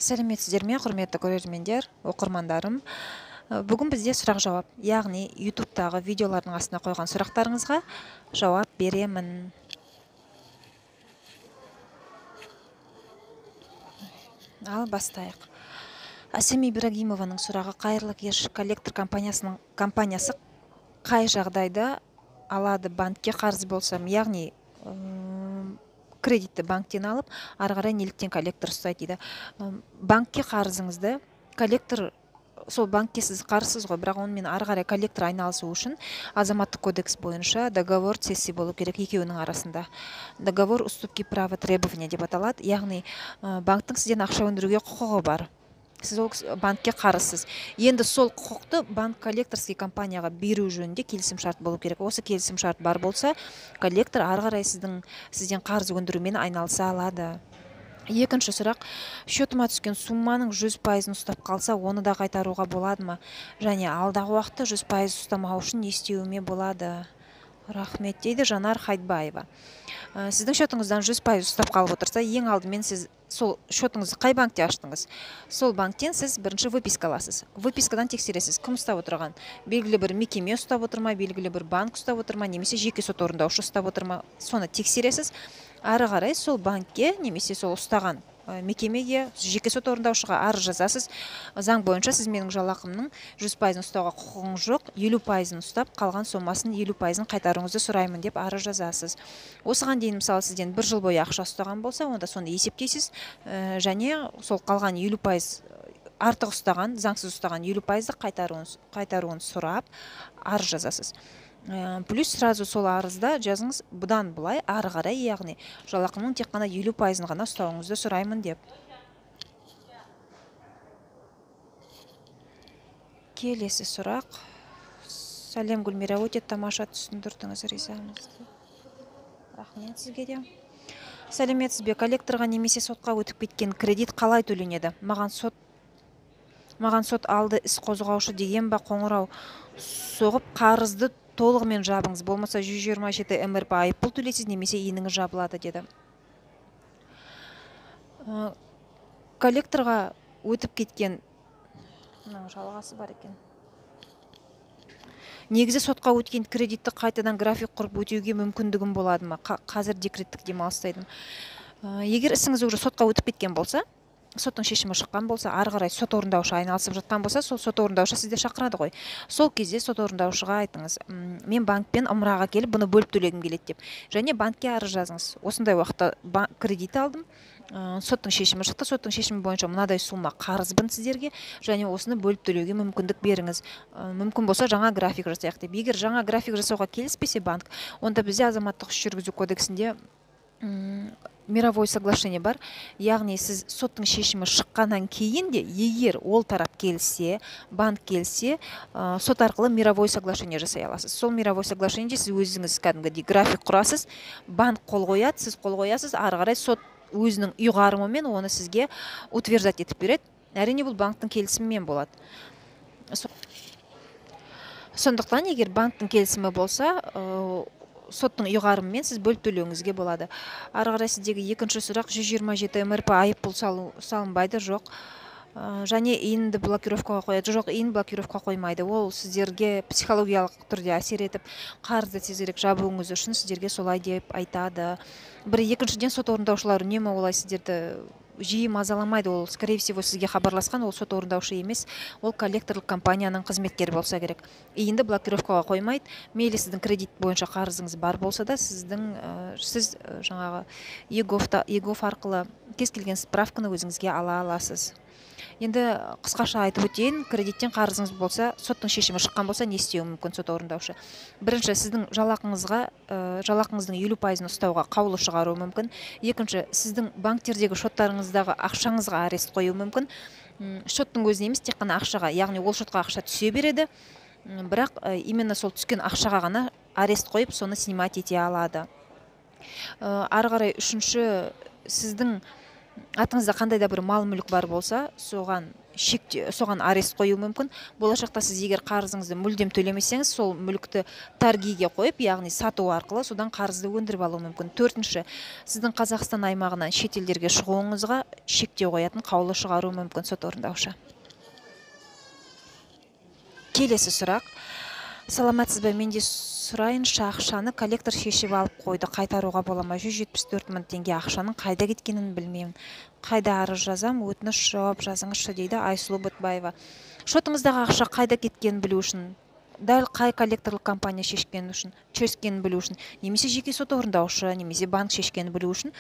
Сәлеметсіздер ме, құрметті көрермендер, оқырмандарым. Бүгін бізде сұрақ жауап, яғни ютубтағы видеолардың астына қойған сұрақтарыңызға жауап беремін. Ал бастайық. Әсем Ибрагимованың сұрағы: қайырлы кеш, коллектор компаниясы қай жағдайда алады банкке қарыз болсам, яғни кредитті банктен алып, ары қарай неліктен коллектор ұстайды дейді. Банкке қарызыңызды коллектор, сол банкке сіз қарызсыз ғой, бірақ онымен ары қарай коллектор айналысу үшін азаматтық кодекс бойынша договор цессии болу керек екеуінің арасында. Договор уступки права требования деп аталады, яғни банктың сізден ақша өндіруге құқығы бар. Сіз ол банкке қарызсыз. Енді сол құқықты банк коллекторский компанияға беру жөнінде келісім шарт болу керек. Осы келісім шарт бар болса, коллектор ары қарай сізден қарыз өндірумен айналыса алады. Екінші сұрақ: счетыма түскен сумманың 100% ұстап қалса, оны да қайтаруға болады ма? Және алдағы уақытта 100% ұстамау үшін не істеуіме болады? Рахмет, дейді Жанар Хайдбаева. Сіздің счетыңыздан 100% ұстап қалып отырса, ең алдымен сіз сол счетыңызды қай банкте аштыңыз? Сол банктен сіз бірінші выписка аласыз. Выпискадан тексересіз, кім ұстап отырған? Белгілі бір мекеме ұстап отыр ма, белгілі бір банк ұстап отыр ма, немесе жеке сот орындаушы ұстап отыр ма? Соны тексересіз. Ары қарай сол банкке немесе сол ұстаған мекемеге, жеке сот орындаушыға арыз жазасыз. Заң бойынша сіз менің жалақымның 100% ұстауға құқығыңыз жоқ, 50% ұстап, қалған сомасын 50% қайтаруыңызды сұраймын деп арыз жазасыз. Осыған дейін мысалы сізден 1 жыл бойы ақша ұстаған болса, онда соны есептейсіз, және сол қалған 50% артық ұстаған, заңсыз ұстаған 50% қайтаруын сұрап арыз жазасыз. Плюс сразу сол арызда жазыңыз: бұдан бұлай ары қарай, яғни жалақымның тек қана 50% ғана ұстауыңызды сұраймын деп. Келесі сұрақ: сәлем Гүлмира, өте тамаша түсіндірдіңіз, ризамыз. Рахмет сізге де. Сәлеметсіз бе, коллекторға немесе сотқа өтіп кеткен кредит қалай төленеді? Маған сот алды іс қозғаушы деген ба қоңырау соғып қарызды толығымен жабыңыз, болмаса 127 МРП айыппұл төлейсіз, немесе иініңіз жабылады, деді. Коллекторға өтіп кеткен, жалғасы бар екен. Негізі сотқа өткен кредитті қайтадан график құрып өтеуге мүмкіндігім болады ма? Қазір декреттік демалыстайдым. Егер ісіңіз уже сотқа өтіп кеткен болса, соттың шешімі шыққан болса, ары қарай сот орындаушы айналысып жатқан болса, сол сот орындаушы сізді шақырады ғой. Сол кезде сот орындаушыға айтыңыз: мен банкпен ымыраға келіп, бұны бөліп төлегім келеді деп. Және банкке арыз жазыңыз: осындай уақытта кредит алдым, соттың шешімі шықты, соттың шешімі бойынша мынадай сумма қарызбын сіздерге, және осыны бөліп төлеуге мүмкіндік беріңіз. Мүмкін болса жаңа график жасайық деп. Егер жаңа график жасауға келіспесе банк, онда бізде азаматтық іс жүргізу кодексінде мировое соглашение бар, яғни сіз соттың шешімі шыққаннан кейін де, егер ол тарап келсе, банк келсе, сот арқылы мировое соглашение жасай аласыз. Сол мировое соглашениеде сіз өзіңіз кәдімгідей график құрасыз, банк қол қояды, сіз қол қоясыз, ары қарай сот өзінің ұйғарымымен оны сізге утверждать етіп береді. Әрине бұл банктың келісімімен болады. Сондықтан егер банктың келісімі болса, соттың ұйғарымымен сіз бөліп төлеуіңізге болады. Ары қарай сіздегі екінші сұрақ: 127 МРП айыппұл салынбайды? Жоқ. Және иінді блокировкаға қояды? Жоқ, иін блокировкаға қоймайды. Ол сіздерге психологиялық түрде әсер етіп, қарызды тезірек жабуыңыз үшін сіздерге солай деп айтады. Екіншіден, сот орындаушылар үнемі олай сіздерді жиі мазаламайды. Ол, скорее всего, сізге хабарласқан, ол сот орындаушы емес, ол коллекторлық компанияның қызметкері болса керек. Иінді блокировкаға қоймайды. Мейлі сіздің кредит бойынша қарызыңыз бар болса да, сіз жаңағы егов арқылы кез келген справканы өзіңізге ала аласыз. Енді қысқаша айтып өтейін: кредиттен қарызыңыз болса, соттың шешімі шыққан болса, не істеуі мүмкін сот орындаушы? Бірінші, сіздің жалақыңыздың 50% ұстауға қаулы шығаруы мүмкін. Екінші, сіздің банктердегі шоттарыңыздағы ақшаңызға арест қою мүмкін. Шоттың өзіне емес, тек қана ақшаға, яғни ол шотқа ақша түсе береді, бірақ именно сол түскен ақшаға ғана арест қойып, соны снимать ете алады. Ары қарай үшінші, сіздің атыңызда қандай да бір мал мүлік бар болса, соған арест қою мүмкін. Болашақта сіз егер қарызыңызды мүлдем төлемесеңіз, сол мүлікті торгиге қойып, яғни сату арқылы содан қарызды өндіріп алу мүмкін. Төртінші, сіздің Қазақстан аймағынан шетелдерге шығуыңызға шектеу қоятын қаулы шығару мүмкін сот орындаушы. Келесі сұрақ. Саламатсыз ба, менде сұрайыншы, ақшаны коллектор шешіп алып қойды, қайтаруға бола ма? 174 мың теңге ақшаның қайда кеткенін білмеймін. Қайда арыз жазам, өтініш жауап жазыңызшы, дейді Айсұлу Бұтбаева. Шотыңыздағы ақша қайда кеткенін білу үшін, дәл қай коллекторлық компания шешкенін білу үшін, немесе жеке сот орындаушы, немесе банк шешкенін білу үшін,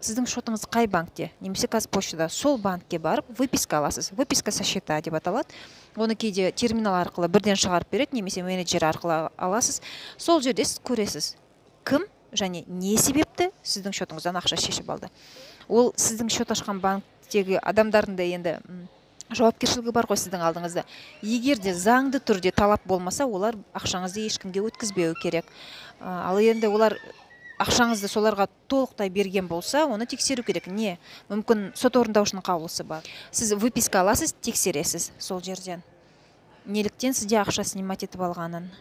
сіздің шотыңыз қай банкте, немесе Қазпоштада, сол банкке барып выписка аласыз. Выписка со счета деп аталады. Оны кейде терминал арқылы бірден шығарып береді, немесе менеджер арқылы аласыз. Сол жерде сіз көресіз, кім және не себепті сіздің шотыңыздан ақша шешіп алды. Ол сіздің шот ашқан банктегі адамдардың да енді жауапкершілігі бар ғой сіздің алдыңызда. Егер де заңды түрде талап болмаса, олар ақшаңызды ешкімге өткізбеу керек. Ал енді олар ақшаңызды соларға толықтай берген болса, оны тексеру керек. Не? Мүмкін сот орындаушының қаулысы бар. Сіз выписка аласыз, тексересіз сол жерден. Неліктен сізде ақша снимать етіп алғанын.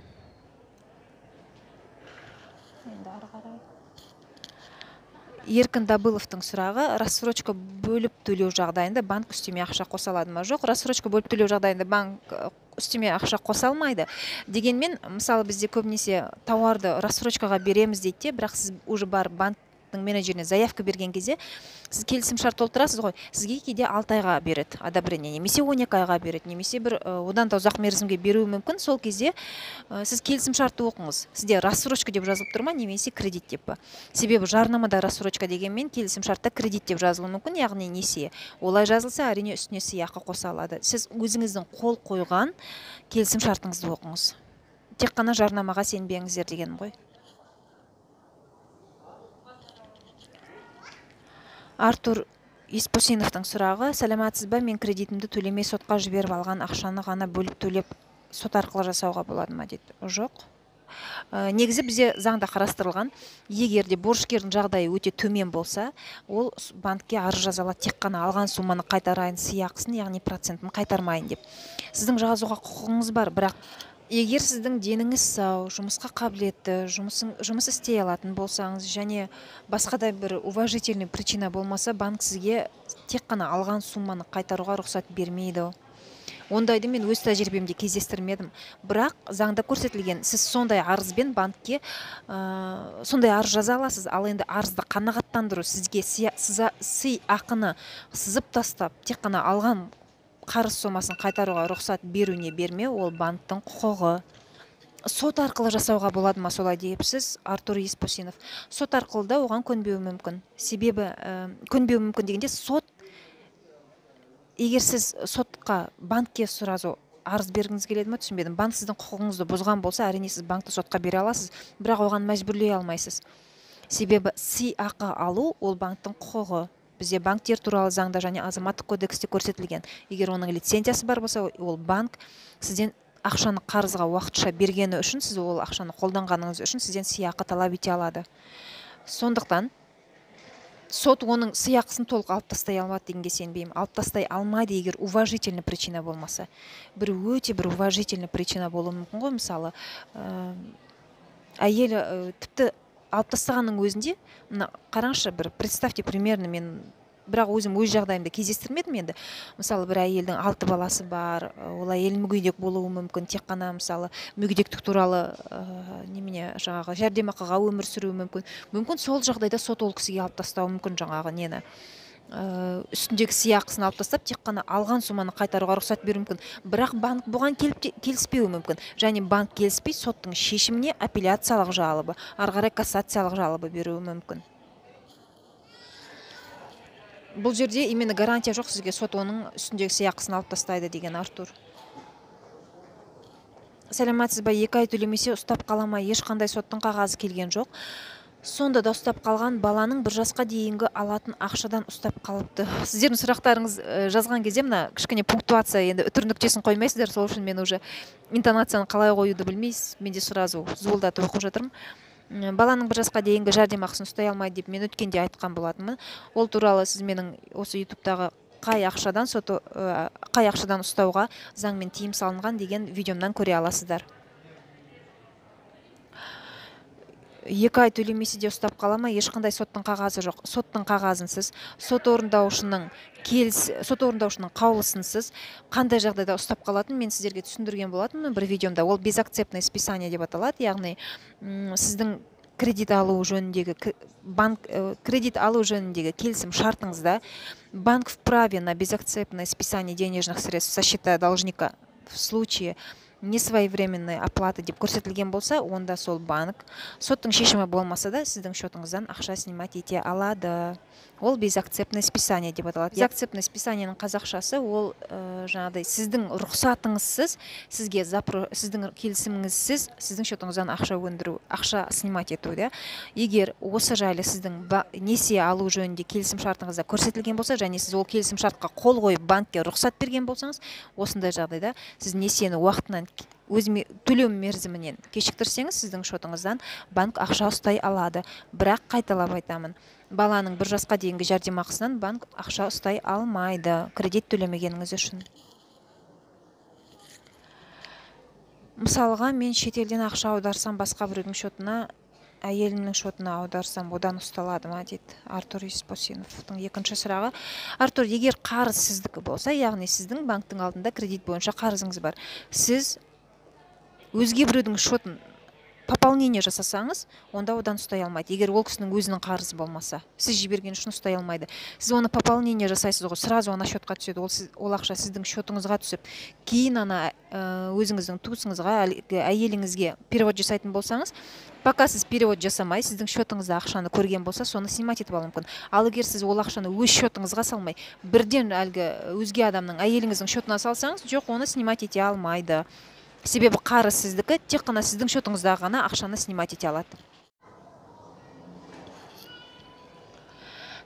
Еркін Дабыловтың сұрағы, рассрочка бөліп төлеу жағдайында банк үстеме ақша қоса алады ма? Жоқ, рассрочка бөліп төлеу жағдайында банк үстеме ақша қоса алмайды. Дегенмен, мысалы бізде көбінесе тауарды рассрочкаға береміз дейді, бірақ сіз уже бар банктың менеджеріне заявка берген кезде, сіз келісім шарт толтырасыз ғой, сізге кейде 6 айға береді одобрение, немесе 12 айға береді, немесе бір одан да ұзақ мерзімге беруі мүмкін. Сол кезде сіз келісім шартты оқыңыз. Сізде рассрочка деп жазылып тұр ма, немесе кредит деп па? Себебі жарнамада рассрочка дегенмен келісім шартта кредит деп жазылуы мүмкін, яғни несие. Олай жазылса, әрине үстіне сыйақы қоса алады. Сіз өзіңіздің қол қойған келісім шартыңызды оқыңыз. Тек қана жарнамаға сенбеңіздер дегенім ғой. Артур Еспосиновтың сұрағы, сәлематсыз ба, мен кредитімді төлемей сотқа жіберіп алған ақшаны ғана бөліп төлеп сот арқылы жасауға болады ма дейді. Жоқ. Негізі бізде заңда қарастырылған, егер де борышкердің жағдайы өте төмен болса, ол банкке арыз жаза алады, тек қана алған сумманы қайтарайын, сыйақысын, яғни процентін қайтармайын деп. Сіздің жазуға құқығыңыз бар, бірақ егер сіздің деніңіз сау, жұмысқа қабілетті, жұмыс істей алатын болсаңыз, және басқа да бір уважительный причина болмаса, банк сізге тек қана алған сумманы қайтаруға рұқсат бермейді. Ондайды мен өз тәжірибемде кездестірмедім. Бірақ заңда көрсетілген, сіз сондай арызбен банкке сондай арыз жаза аласыз. Ал енді арызды қанағаттандыру, сізге сыйақыны сызып тастап, тек қана алған қарыз сомасын қайтаруға рұқсат беруіне бермеу, ол банктың құқығы. Сот арқылы жасауға болады ма солай дейіпсіз, Артур Еспосинов? Сот арқылы да оған көнбеуі мүмкін. Себебі көнбеуі мүмкін дегенде, егер сіз сотқа, банкке сразу арыз бергіңіз келеді ме, түсінбедім. Банк сіздің құқығыңызды бұзған болса, әрине сіз банкты сотқа бере аласыз, бірақ оған мәжбүрлей алмайсыз. Себебі сыйақы алу ол банктың құқығы. Бізде банктер туралы заңда және азаматтық кодексте көрсетілген. Егер оның лицензиясы бар болса, ол банк сізден ақшаны қарызға уақытша бергені үшін, сіз ол ақшаны қолданғаныңыз үшін сізден сыйақы талап ете алады. Сондықтан сот оның сыйақысын толық алып тастай алмады дегенге сенбеймін. Алып тастай алмайды, егер уважительный причина болмаса. Бір уважительный причина болуы мүмкін ғой, мысалы, әйелі тіпті алып тастағанның өзінде, қараңызшы, представьте примерно, мен бірақ өзім өз жағдайымда кездестірмедім енді. Мысалы, бір әйелдің 6 баласы бар, ол әйел мүгедек болуы мүмкін, тек қана мысалы мүгедектік туралы немене жаңағы жәрдемақыға өмір сүруі мүмкін. Мүмкін сол жағдайда сот ол кісіге алып тастауы мүмкін, жаңағы нені үстіндегі сыйақысын алып тастап, тек қана алған сумманы қайтаруға рұқсат беруі мүмкін. Бірақ банк бұған келіспеуі мүмкін. Және банк келіспей, соттың шешіміне апелляциялық жалобы, ары қарай кассациялық жалобы беруі мүмкін. Бұл жерде именно гарантия жоқ сізге, сот оның үстіндегі сыйақысын алып тастайды деген Артур. Сәлематсыз ба, 2 ай төлемесе ұстап қала ма? Ешқандай соттың қағазы келген жоқ. Сонда да ұстап қалған, баланың 1 жасқа дейінгі алатын ақшадан ұстап қалыпты. Сіздердің сұрақтарыңыз жазған кезде мына кішкене пунктуация, енді үтір нүктесін қоймайсыздар, сол үшін мен уже интонацияны қалай қоюды білмейсіз. Мен де сразу зуылдатып оқып жатырмын. баланың 1 жасқа дейінгі жәрдемақысын ұстай алмайды деп мен өткенде айтқан болатынмын. Ол туралы сіз менің осы ютубтағы қай ақшадан ұстауға заңмен тыйым салынған деген видеомнан көре аласыздар. 2 ай төлемесе де ұстап қала ма? Ешқандай соттың қағазы жоқ. Соттың қағазынсыз, сот орындаушының қаулысынсыз қандай жағдайда ұстап қалатын мен сіздерге түсіндірген болатынмын бір видеомда. Ол безакцептное списание деп аталады, яғни сіздің кредит алу жөніндегі келісім шартыңызда банк вправе на безакцептное списание денежных средств со счета должника в случае несвоевременной оплаты деп көрсетілген болса, онда сол банк соттың шешімі болмаса да сіздің шотыңыздан ақша снимать ете алады. Ол безакцептное списание деп аталады. Безакцептное списаниенің қазақшасы ол жаңағыдай сіздің рұқсатыңызсыз, сіздің келісіміңізсіз сіздің шотыңыздан ақша снимать ету. Егер осы жайлы сіздің несие алу жөнінде келісім шартыңызда көрсетілген болса, және сіз ол келісім шартқа қол қойып банкке рұқсат берген болсаңыз, осындай жағдайда сіз несиені уақытынан төлеу мерзімінен кешіктірсеңіз, сіздің шотыңыздан банк ақша ұстай алады. Бірақ қайталап айтамын, баланың 1 жасқа дейінгі жәрдемақысынан банк ақша ұстай алмайды, кредит төлемегеніңіз үшін. Мысалға, мен шетелден ақша аударсам басқа біреудің шотына, әйелімнің шотына аударсам, одан ұсталады ма дейді Артур Испосиновтың екінші сұрағы. Артур, егер қарыз сіздікі болса, яғни сіздің банктың алдында кредит бойынша қарызыңыз бар, сіз өзге біреудің шотын пополнение жасасаңыз, онда одан ұстай алмайды. Егер ол кісінің өзінің қарызы болмаса, сіз жіберген үшін ұстай алмайды. Сіз оны пополнение жасайсыз ғой, сразу ана шотқа түседі. Ол ақша сіздің шотыңызға түсіп, кейін ана өзіңіздің туысыңызға, әйеліңізге перевод жасайтын болсаңыз, пока сіз перевод жасамай, сіздің шотыңызда ақшаны көрген болса, соны снимать етіп алу мүмкін. Ал егер сіз ол ақшаны өз шотыңызға салмай, бірден өзге адамның әйеліңіздің шотына салсаңыз, жоқ, оны снимать ете алмайды. Себебі қарыз сіздікі, тек қана сіздің шотыңызда ғана ақшаны снимать ете алады.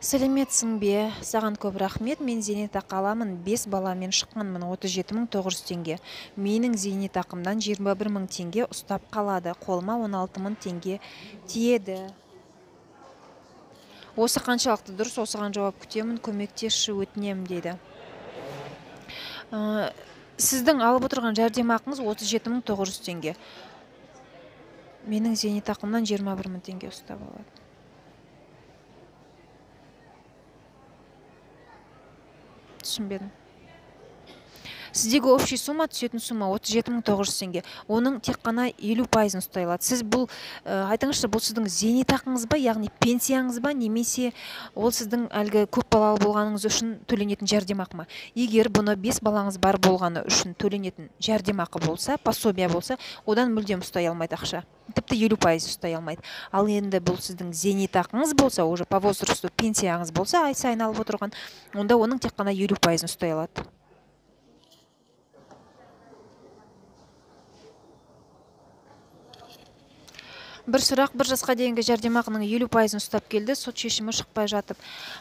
Сәлеметсің бе? Саған көп рахмет. Мен зейнетақы аламын. 5 баламен шыққанмын, 37.900 теңге. Менің зейнетақымдан 21.000 теңге ұстап қалады. Қолыма 16.000 теңге тиеді. Осы қаншалықты дұрыс? Осыған жауап күтемін. Көмектесші, өтінем дейді. Сіздің алып отырған жәрдемақыңыз 37.900 теңге. Менің зейнетақымнан 21.000 теңге ұстап алады. Түсінбедім. Сіздегі общий сумма, түсетін сумма 37.900 теңге. Оның тек қана 50% ұстай алады. Сіз бұл, айтыңызшы, бұл сіздің зейнетақыңыз ба, яғни пенсияңыз ба, немесе ол сіздің әлгі көп балалы болғаныңыз үшін төленетін жәрдемақы ма? Егер бұны 5 балаңыз бар болғаны үшін төленетін жәрдемақы болса, пособие болса, одан мүлдем ұстай алмайды ақша. Тіпті 50% ұстай алмайды. Ал енді бұл сіздің зейнетақыңыз болса, уже по возрасту пенсияңыз болса, ай сайын алып отырған, онда оның тек қана 50% ұстай алады. Бір сұрақ, 1 жасқа дейінгі жәрдемақының 50% ұстап келді, сот шешімі шықпай жатып.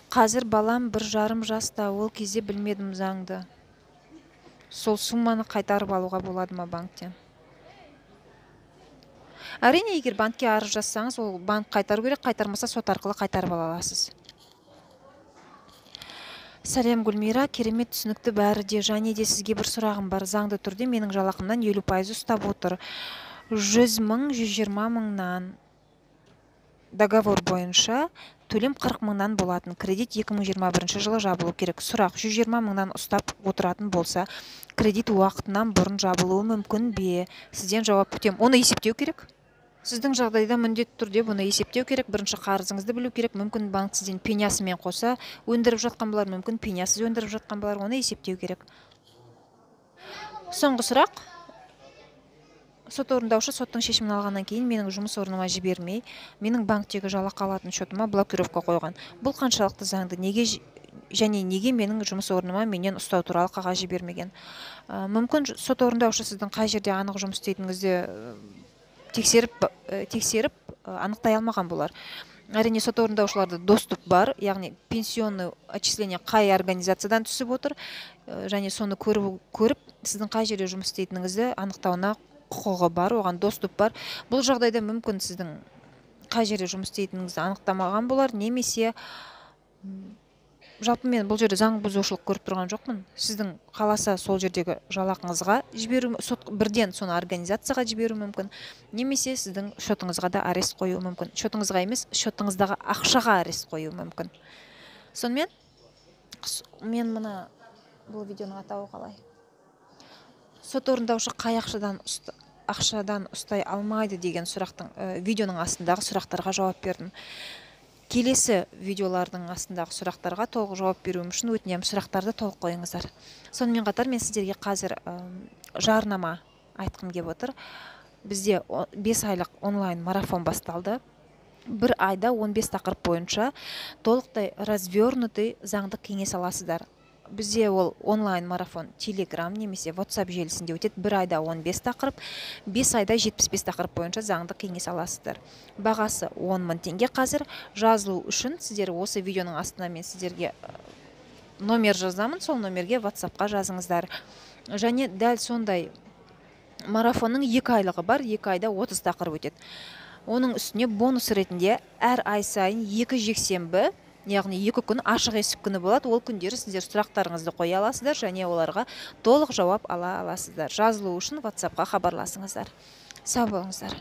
Қазір балам 1,5 жаста, ол кезде білмедім заңды. Сол сумманы қайтарып алуға болады ма банктен? Әрине, егер банкке арыз жазсаңыз, ол банк қайтару керек, қайтармаса сот арқылы қайтарып ала аласыз. Сәлем Гүлмира, керемет түсінікті бәрі де, және де сізге бір сұрағым бар. Заңды түрде менің жалақымнан 50% ұстап отыр. 100 мың, 120 мыңнан договор бойынша төлем 40 мыңнан болатын. Кредит 2021 жылы жабылу керек. Сұрақ, 120 мыңнан ұстап отыратын болса, кредит уақытынан бұрын жабылуы мүмкін бе? Сізден жауап күтем. Оны есептеу керек. Сіздің жағдайда міндетті түрде бұны есептеу керек. Бірінші қарызыңызды білу керек. Мүмкін банк сізден пенясымен қоса өндіріп жатқан болар, мүмкін пенясыз өндіріп жатқан болар. Оны есептеу керек. Соңғы сұрақ. Сот орындаушы соттың шешімін алғаннан кейін менің жұмыс орныма жібермей, менің банктегі жалақы алатын шотыма блокировка қойған. Бұл қаншалықты заңды? Неге менің жұмыс орныма менен ұстау туралы қағаз жібермеген? Мүмкін сот орындаушы сіздің қай жерде анық жұмыс істейтініңізді тексеріп анықтай алмаған болар. Әрине, сот орындаушыларда доступ бар, яғни пенсионный отчисление қай организациядан түсіп отыр, және соны көріп, сіздің қай жерде жұмыс істейтініңізді анықтауына құқығы бар, оған доступ бар. Бұл жағдайда мүмкін сіздің қай жерде жұмыс істейтініңізді анықтамаған болар, немесе жалпы мен бұл жерде заң бұзушылық көріп тұрған жоқпын. Сіздің қаласа сол жердегі жалақыңызға жіберу, бірден соны организацияға жіберу мүмкін, немесе сіздің шотыңызға да арест қою мүмкін. Шотыңызға емес, шотыңыздағы ақшаға арест қою мүмкін. Сонымен мен мына бұл видеоның атауы қалай? Сот орындаушы қай ақшадан ұстай алмайды деген сұрақтың видеоның астындағы сұрақтарға жауап бердім. Келесі видеолардың астындағы сұрақтарға толық жауап беруім үшін өтінемін, сұрақтарды толық қойыңыздар. Сонымен қатар мен сіздерге қазір жарнама айтқым келіп отыр. Бізде 5 айлық онлайн марафон басталды. Бір айда 15 тақырып бойынша толықтай развернутый заңдық кеңес аласыздар. Бізде ол онлайн марафон Telegram немесе WhatsApp желісінде өтеді. Бір айда 15 тақырып, 5 айда 75 тақырып бойынша заңдық кеңес аласыздар. Бағасы 10 мың теңге қазір. Жазылу үшін сіздер осы видеоның астына мен сіздерге номер жазамын, сол номерге WhatsApp-қа жазыңыздар. Және дәл сондай марафонның 2 айлығы бар, 2 айда 30 тақырып өтеді. Оның үстіне бонус ретінде әр ай сайын 2 жексенбі, яғни 2 күн ашық есік күні болады. Ол күндері сіздер сұрақтарыңызды қоя аласыздар және оларға толық жауап ала аласыздар. Жазылу үшін WhatsApp-қа хабарласыңыздар. Сау болыңыздар.